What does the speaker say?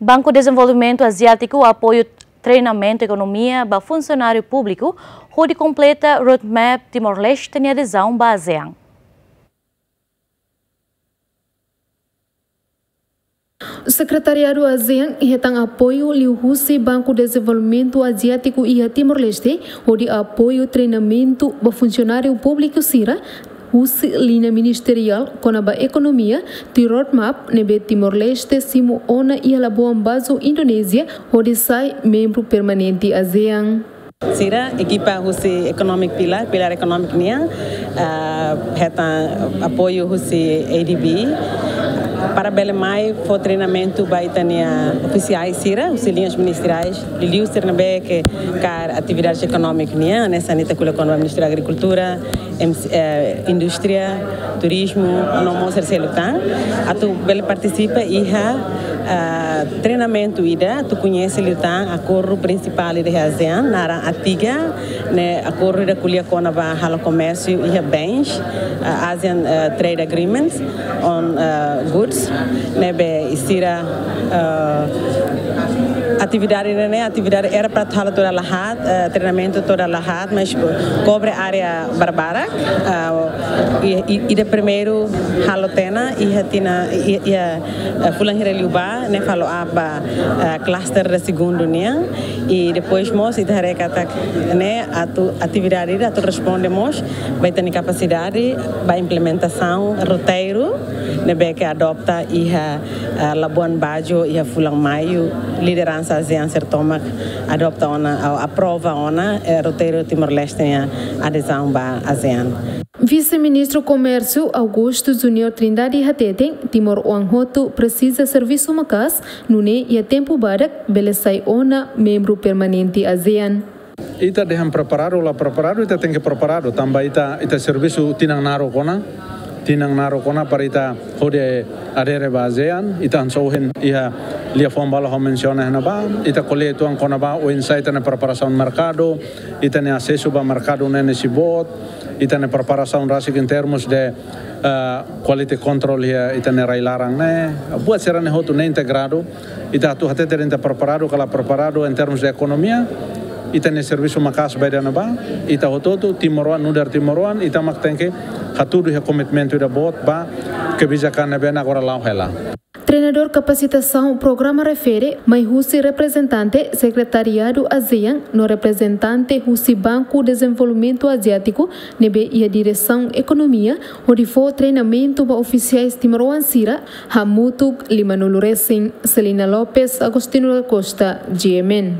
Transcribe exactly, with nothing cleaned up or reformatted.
Banku Dezenvolvimentu Aziátiku apoiu treinamentu ekonomia ba funsionáriu públiku hodi kompleta roadmap Timor-Leste nia adezaun ba ASEAN. Sekretariadu ASEAN hetan apoiu liuhusi Banku Dezenvolvimentu Aziátiku iha Timor-Leste hodi apoiu treinamentu ba funsionáriu públiku sira husi liña ministeriál kona-ba ekonomia, tuir roadmap ne'ebé Timor-Leste simu ona iha Labuan Bajo, Indonézia, hodi sai membru permanente ASEAN. Sira, ekipa husi economic pillar, pillar economic nian, ah, hetan apoiu husi A D B para bele mai fó treinamentu ba ita-nia ofisiais sira husi liñas ministeriais, liuliu sira ne'ebé ke kaer atividades ekonómika nian, hanesan ita ko'alia kona-ba Ministériu Agrikultura, M C, eh, Indústria, Turizmu, no mós sira seluk tan, atu bele partisipa iha, ah, treinamentu ida, atu koñese liután akordu prinsipál ida iha ASEAN, naran ATIGA, ne'e akordu ida ko'alia kona-ba halo komérsiu iha bens, ah, ASEAN, eh, Trade Agreements on, eh, Goods, ne'ebé sira, eh, atividade ne'e, atividade era para halo toda la haat, eh, treinamentu toda la haat, mas kobre área barbarak, eh, i, i, ida primeiru halo tiha ona, iha tinan, i, i, eh, fulan hira liubá, ne'e follow up ba, eh, cluster ida segundu nian, i depois mós ita haree katak ne'e atu atividade ida atu responde mós ba ita-nia kapasidade ba implementasaun roteiru ne'ebé ke adopta iha, eh, Labuan Bajo iha fulan Maiu, lideransa ASEAN sira tomak adopta ona, ou aprova ona, eh, roteiru Timor-Leste nia adezaun ba ASEAN. Vise-Ministru Komérsiu Augusto Junior Trindade hateten, timoroan hotu presiza servisu maka'as, nune'e iha tempu badak bele sai ona membru permanente ASEAN. Ita dehan preparadu, la preparadu, ita tenke preparadu. Tanba ita, ita servisu tinan naruk ona, tinan naruk ona para ita hodi adere ba ASEAN, ita hanesan ohin iha liafuan balu ha'u mensiona iha ne'ebá, ita ko'alia uitoan kona-ba oinsá ita-nia preparasaun merkadu, ita-nia asesu ba merkadu ne'e iha ne'ebé, ita-nia preparasaun rasik em termos de, ah, quality control iha ita-nia rai-laran ne'e. Buat sira-ne'e hotu ne'e integradu, ita atu hatete ita preparadu ka la preparadu em termos de ekonomia, ita-nia servisu maka'as ba ida-ne'ebá, ita hotu-hotu timoroan, nu'udar timoroan, ita mak tenke hatudu iha komitmentu ida boot ba kebijakan ne'ebé agora la'o hela. Treinadór kapasitasaun programa refere mai husi reprezentante Sekretariadu ASEAN no reprezentante husi Banku Dezenvolvimentu Aziátiku ne'ebé iha diresaun ekonomia hodi fó treinamentu ba ofisiais timoroan sira hamutuk limanulu resin. Selina Lopes, Agostinho da Costa, G M N.